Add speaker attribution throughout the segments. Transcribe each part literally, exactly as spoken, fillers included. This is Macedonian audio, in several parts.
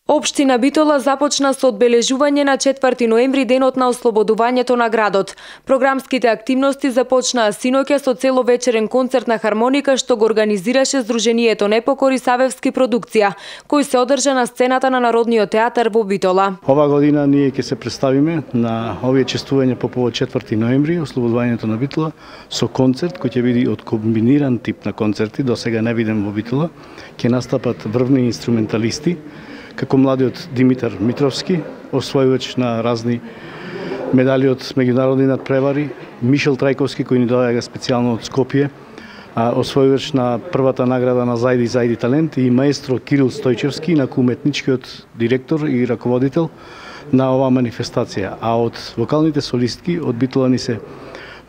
Speaker 1: Општина Битола започна со одбележување на четврти ноември, денот на ослободувањето на градот. Програмските активности започнаа синоќа со целовечерен концерт на хармоника што го организираше Сдруженијето Непокори Савевски продукција, кој се одржа на сцената на Народниот театар во Битола.
Speaker 2: Ова година ние ќе се представиме на овие чествувања по повод четврти ноември, ослободувањето на Битола, со концерт кој ќе биде од комбиниран тип на концерти, до сега не виден во Битола. Ќе настапат врвни инструменталисти, како младиот Димитар Митровски, освојувач на разни медали од меѓународни надпревари, Мишел Трајковски, кој ни доаѓа специјално од Скопје, освојувач на првата награда на Зајди Зајди талент, и маестро Кирил Стојчевски, инаку уметничкиот директор и раководител на оваа манифестација. А од вокалните солистки од Битола ни се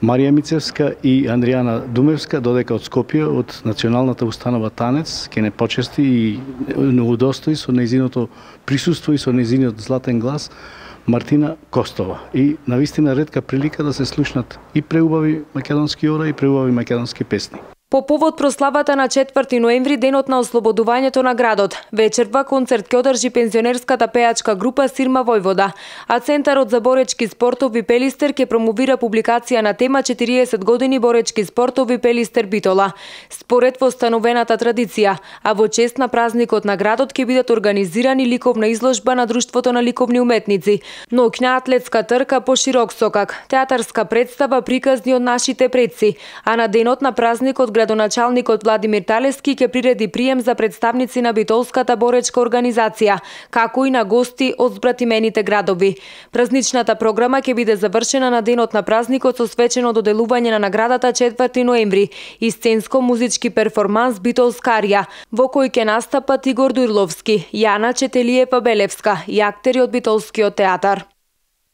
Speaker 2: Марија Мицевска и Андријана Думевска, додека од Скопје, од Националната установа Танец, ке не почести и не удостои со нејзиното присуство и со нејзиниот златен глас Мартина Костова. И навистина ретка прилика да се слушнат и преубави македонски ора и преубави македонски песни.
Speaker 1: По повод прославата на четврти ноември, денот на ослободувањето на градот, вечерва концерт ќе одржи пензионерската пејачка група Сирма Војвода, а Центарот за боречки спортови Пелистер ќе промовира публикација на тема четириесет години боречки спортови Пелистер Битола. Според востановената традиција, а во чест на празникот на градот ќе бидат организирани ликовна изложба на Друштвото на ликовни уметници, ноќна атлетска трка по широк сокак, театарска представа приказни од нашите предци, а на денот на празникот градоначалникот Владимир Талески ќе приреди прием за представници на битолската боречка организација, како и на гости од збратимените градови. Празничната програма ќе биде завршена на денот на празникот со свечено доделување на наградата четврти ноември и сценско-музички перформанс Битолска арија, во кој ќе настапат Игор Дурловски, Јана Четелиева Белевска и актери од Битолскиот театар.